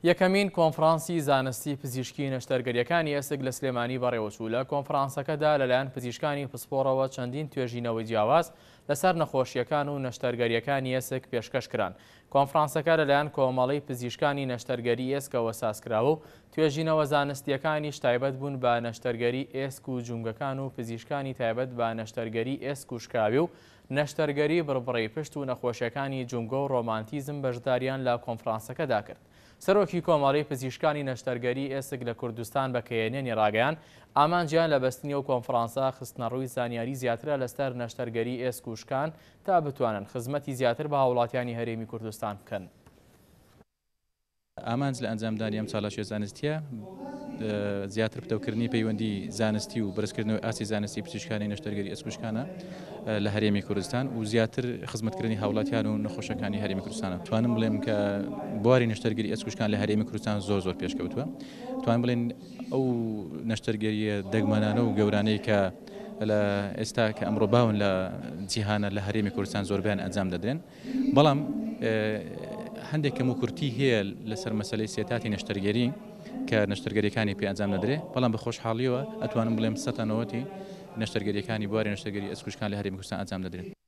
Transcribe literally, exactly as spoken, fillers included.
یەکەمین کۆنفرانسی زانستی پزیشکی نەشتەرگەریەکانی ئێسک لە سلێمانی بەڕێوەچوو. لە کۆنفرانسەکەدا لەلایەن پزیشکانی پسپۆڕەوە چەندین توێژینەوەی جیاواز لەسەر نەخۆشیەکان و نەشتەرگەریەکانی ئێسک پێشکەش کران. کۆنفرانسەکە لەلایەن کۆمەڵەی پزیشکانی نەشتەرگەری ئێسکەوە سازکراوە و توێژینەوە زانستیەکانیش تایبەت بوون بە نەشتەرگەری ئێسک و جومگەکان و پزیشکانی تایبەت بە نەشتەرگەری ئێسک و شکاوی و نەشتەرگەری بڕبڕەی پشت و نەخۆشیەکانی جومگە و ڕۆماتیزم بەشداریان لە کۆنفرانسەکەدا کرد. سەرۆکی کۆمەڵەی پزیشکانی نەشتەرگەری ئێسک لە کوردستان بە کەیەنێنی ڕاگەیان ئامانجیان لە بەستنی ئەو کۆنفرانسە خستنەڕووی زانیاری زیاترە لەسەر نەشتەرگەری ئێسک و شکان تا بتوانن خزمەتی زیاتر بە هاوڵاتیانی هەرێمی کوردستان بکەن. ئامانج لە ئەنجامدانی ئەم چالاکیە زانستیە زیاتر پتەوکردنی پەیوەندی زانستی و بەرزکردنەوەی ئاستی زانستی پزیشکانی نەشتەرگەری ئێسکوشکانە لە هەرێمی کوردستان و زیاتر خزمەتکردنی هاوڵاتیان و نەخۆشەکانی هەرێمی کوردستانە. توانم بڵێم کە بواری نەشتەرگەری ئێسکوشکان لە هەرێمی کوردستان زۆر زۆر پێشکەوتووە. توانم بڵێن ئەو نەشتەرگەریە دەگمەنانە و گەورانەی کە لە ئێستا کە ئەمڕۆ باون لە جیهانە لە هەرێمی کوردستان زۆربیان ئەنجام دەدرێن، بەڵام هەندێک کەم و کورتی هەیە لەسەر مەسلەی سێتاتی نەشتەرگەری کە نەشتەرگەریەکانی پێ ئەنجام دەدرێت، بەڵام بە خۆشحاڵیەوە ئەتوانم بڵێم سەتا نەوەتی نەشتەرگەریەکانی بواری نەشتەرگەری ئێسکوشکان لە هەرێمی کوردستان ئەنجام دەدرێت.